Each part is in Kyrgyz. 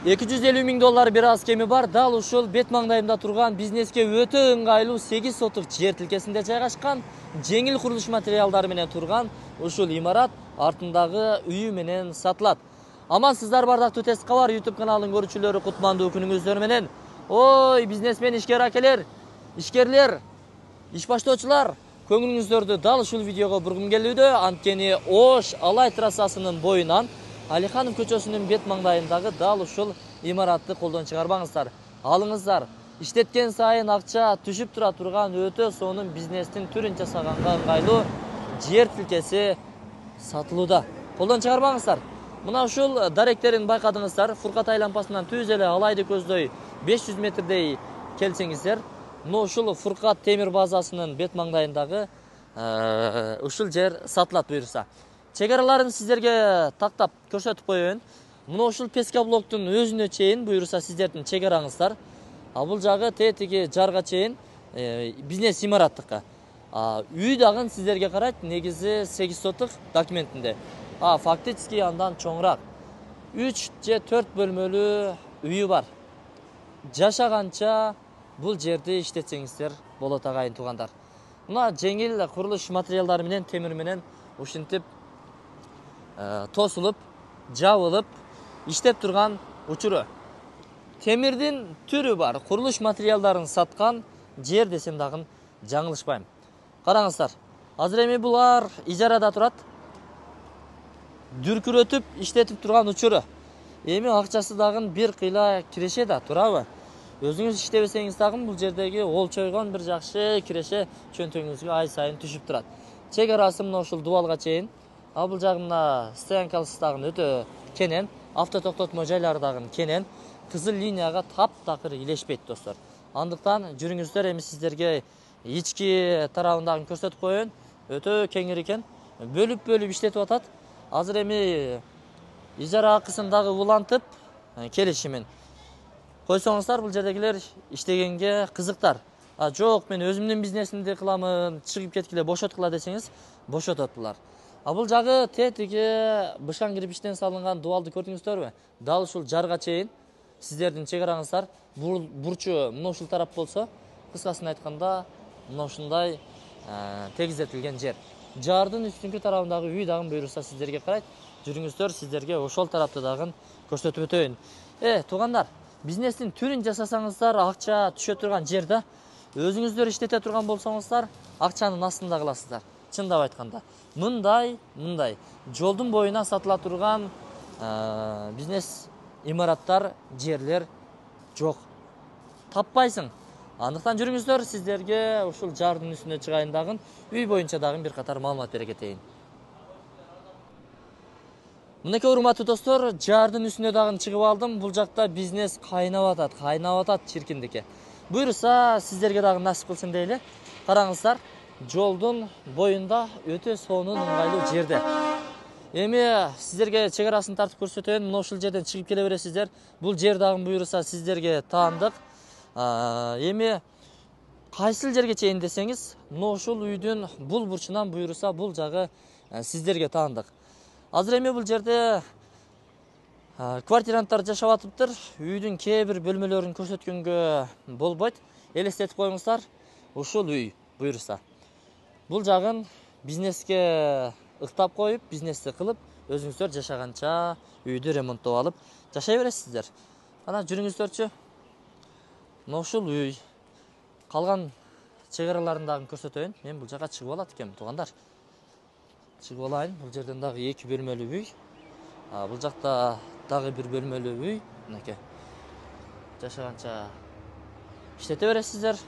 $250 000 бир аз кеми бар. Дал ушул бет маңдайында турган бизнеске өтө ыңгайлуу 8 сотук жер тилкесинде жайгашкан, жеңил курулуш материалдары менен турган ушул имарат артындагы үйү менен сатылат. Амансыздар бардактуу Тест кабар YouTube каналынын көрүүчүлөрү, кутмандуу күнүңүздөр менен. Ой, бизнесмен, ишкер акелер, ишкерлер, иш баштоочулар, көңүлүңүздөрдү дал ушул видеого бургум келүүдө. Анткени Ош Алай трассасынын боюнан Алиханов көчөсүнүн бет маңдайындагы дал ушул имаратты колдон чыгарбаңыздар. Алыңыздар. Иштеткен сайын акча түшүп тура турган өтө сонун бизнестин түрүн жасаганга ыңгайлуу жер тилкеси сатылууда. Колдон чыгарбаңыздар. Мына ушул даректерин байкадыңыздар. Фуркатай лампасынан түз эле Алайды көздөй 500 метрдей келсеңиздер, мына ушул Фуркат темир базасынын бет маңдайындагы ушул жер сатылат буюрса. Чегараларын сиздерге тактап көрсөтүп коеюн. Мына ушул Пескоблоктун өзүнө чейин буюрса сиздердин чегараңыздар. Бул жагы тетиги жарга чейин бизнес имараттыкка. Үй дагы сиздерге карайт, негизи 8 сотук документинде. Фактически андан чоңураак. 3 же 4 бөлмөлүү үйү бар. Жашаганча бул жерди иштетсеңиздер болот агайын туугандар. Мына жеңил курулуш материалдары менен, темир менен ушинтип тосулуп, жабылып, иштеп турган учуру. Темирдин түрү бар, курулуш материалдарын саткан жер десем дагы жаңылышпайм. Караңыздар. Азыр эми булар ижарада турат. Дүркүрөтүп иштетип турган учуру. Эми акчасы дагы бир кыйла киреше да, турабы? Өзүңүз иштебесеңиз дагы бул жердеги олчойгон бир жакшы киреше чөнтөгүңүзгө ай сайын түшүп турат. Чегарасы мына ушул дубалга чейин. Бул жагына стоянкасы дагы өтө кенен, авто токтотмо жайлары дагы кенен, кызыл линияга таптакыр илешпейт достор. Андыктан жүрүңүздөр, эми сиздерге ички тарабын көрсөтүп коеюн. Өтө кеңир экен. Бөлүп иштетип атат. Азыр эми ижара акысын дагы улантып, келишимин койсоңуздар, бул жердегилер иштегенге кызыктар. Жок, мен өзүмдүн бизнесимди кыламын, чыгып кеткиле, бошоткула десеңиз, бошотот булар. Бул жагы тетиги бышкан кирпичтен салынган дубалды көрдүңүздөрбү? Дал ушул жарга чейин сиздердин чегараңыздар. Бурчу мына ушул тарап болсо, кыскасын айтканда, мына ушундай тегизетилген жер. Жардын үстүнкү тарабындагы үй дагы буюрса сиздерге карайт. Жүрүңүздөр, сиздерге ошол тарапты дагы көрсөтүп өтөйүн. Туугандар, бизнестин түрүн жасасаңыздар, акча түшө турган жерде өзүңүздөр иштете турган болсоңуздар, акчанын астында каласыздар. Чындап айтканда, мындай жолдун боюна сатыла турган бизнес имараттар, жерлер жок. Таппайсың. Андыктан жүрүңүздөр, сиздерге ушул жардын үстүнө чыгайын дагы, үй боюнча дагы бир катар маалымат бере кетейин. Мынакей урматтуу достор, жардын үстүнө дагы чыгып алдым. Бул жакта бизнес кайнап атат чиркиндикке. Буюрса, сиздерге дагы насип кылсын дейли. Караңыздар, жолдун боюнда өтө сонун ыңгайлуу жерде. Эми сиздерге чегарасын тартып көрсөтөйүн. Мына ушул жерден чыгып келе бересиздер. Бул жер дагы буюрса сиздерге таандык. Эми кайсыл жерге чейин десеңиз, мына ушул үйдүн бул бурчунан буюрса бул жагы сиздерге таандык. Азыр эми бул жерде квартиранттар жашап атыптыр. Үйдүн кээ бир бөлмөлөрүн көрсөткөнгө болбойт. Элестетип коюңуздар, ушул үй буюрса. Бул жагын бизнеске ыктап коюп, бизнести кылып, өзүңүздөр жашаганча үйдү ремонттоп алып жашай бересиздер. Ана жүрүңүздөрчү. Мына ушул үй. Калган чегараларын дагы көрсөтөйүн. Мен бул жака чыгып алат экенмин, туугандар. Чыгып алайын. Бул жерден дагы 2 бөлмөлүү үй. Бул жакта дагы 1 бөлмөлүү үй. Мынакей. Жашаганча иштете бересиздер.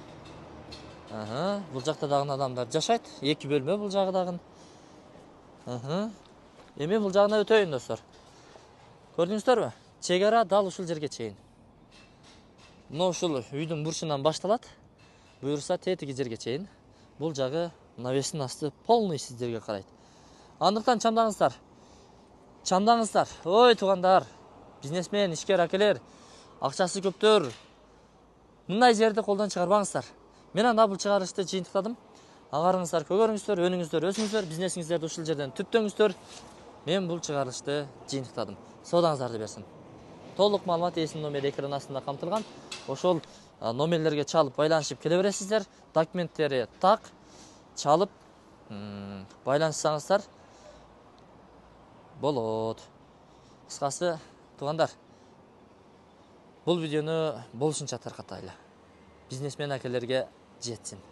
Бул жакта дагы адамдар жашайт. 2 бөлмө бул жагы дагы. Эми бул жагына өтөйүн достор. Көрдүңүздөрбү? Чегара дал ушул жерге чейин. Мына ушул үйдүн бурчунан башталат. Буюрса тетиги жерге чейин. Бул жагы навестин асты полный сиздерге карайт. Андыктан чамдаңыздар. Ой, туугандар, бизнесмен, ишкер акелер, акчасы көптөр. Мындай жерди колдон чыгарбаңыздар. Мен анда бул чыгарышты жыйынтыктадым. Агарыңыздар көгөрүңүздөр, өнүңүздөр, өсүңүздөр, бизнесиңиздерди ушул жерден түптөңүздөр. Мен бул чыгарышты жыйынтыктадым. Соодаңыздарды берсин. толук маалымат эсин номер экран астында камтылган. Ошол номерлерге чалып байланышып келе бересиздер. Документтери так, чалып байланышсаңыздар болот. Кыскасы, туугандар, бул видеону болушунча таркатайлы. Бизнесмен акелерге жетсин.